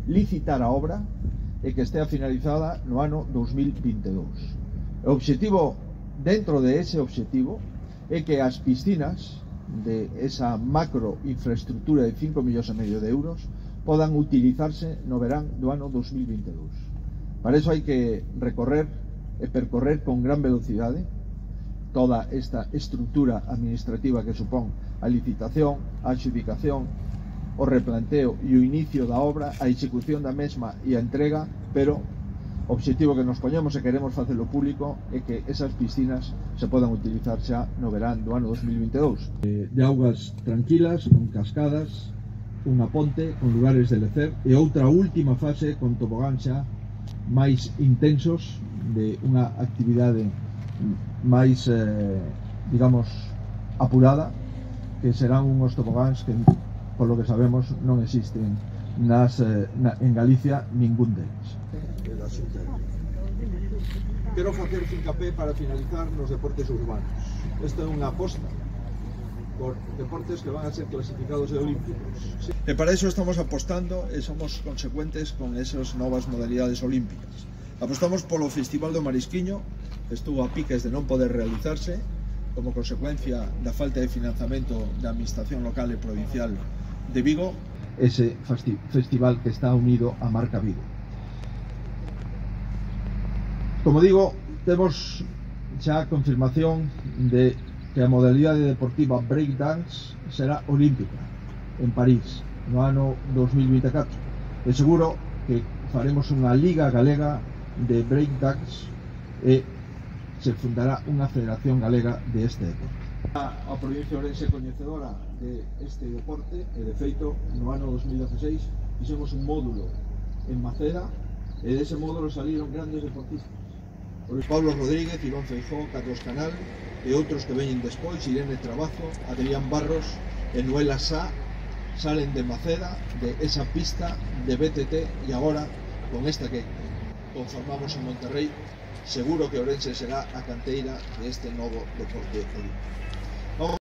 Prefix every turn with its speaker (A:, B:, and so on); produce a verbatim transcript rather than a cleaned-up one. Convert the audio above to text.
A: licitar a obra e que estea finalizada no ano dos mil vinte e dous. O obxectivo, dentro de ese obxectivo, é que as piscinas de esa macro infraestructura de cinco millóns e medio de euros podan utilizarse no verán do ano dos mil vinte e dous. Para iso hai que recorrer e percorrer con gran velocidade toda esta estructura administrativa que supón a licitación, a adxudicación, o replanteo e o inicio da obra, a execución da mesma e a entrega, pero o obxectivo que nos poñemos e queremos facelo público é que esas piscinas se podan utilizar xa no verán do ano dos mil vinte e dous. De augas tranquilas, con cascadas, unha ponte con lugares de lecer e outra última fase con tobogán xa máis intensos de unha actividade máis, eh, digamos, apurada, que serán unhos tobogáns que, polo que sabemos, non existen nas, eh, na, en Galicia ningún deles. Quero facer fincapé para finalizar nos deportes urbanos. Esta é unha aposta por deportes que van a ser clasificados de olímpicos. E para iso estamos apostando e somos consecuentes con esas novas modalidades olímpicas. Apostamos polo Festival do Marisquiño, que estuvo a piques de non poder realizarse como consecuencia da falta de financiamento da Administración Local e Provincial de Vigo. Ese festival que está unido a Marca Vigo. Como digo, temos xa a confirmación de que a modalidade deportiva breakdance será olímpica en París no ano dos mil vinte e catro. E seguro que faremos unha liga galega de breakdance e se fundará unha federación galega de este deporte. A provincia de Ourense coñecedora de este deporte e, de feito, no ano dos mil dieciséis fixemos un módulo en Maceda e dese módulo saliron grandes deportistas. Por Pablo Rodríguez, Iván Feijó, Carlos Canal e outros que veñen despois, Irene Trabazo, Adrián Barros e Noela Sá, salen de Maceda, de esa pista de B T T, e agora, con esta que conformamos en Monterrey, seguro que Ourense será a canteira de este novo deporte olímpico.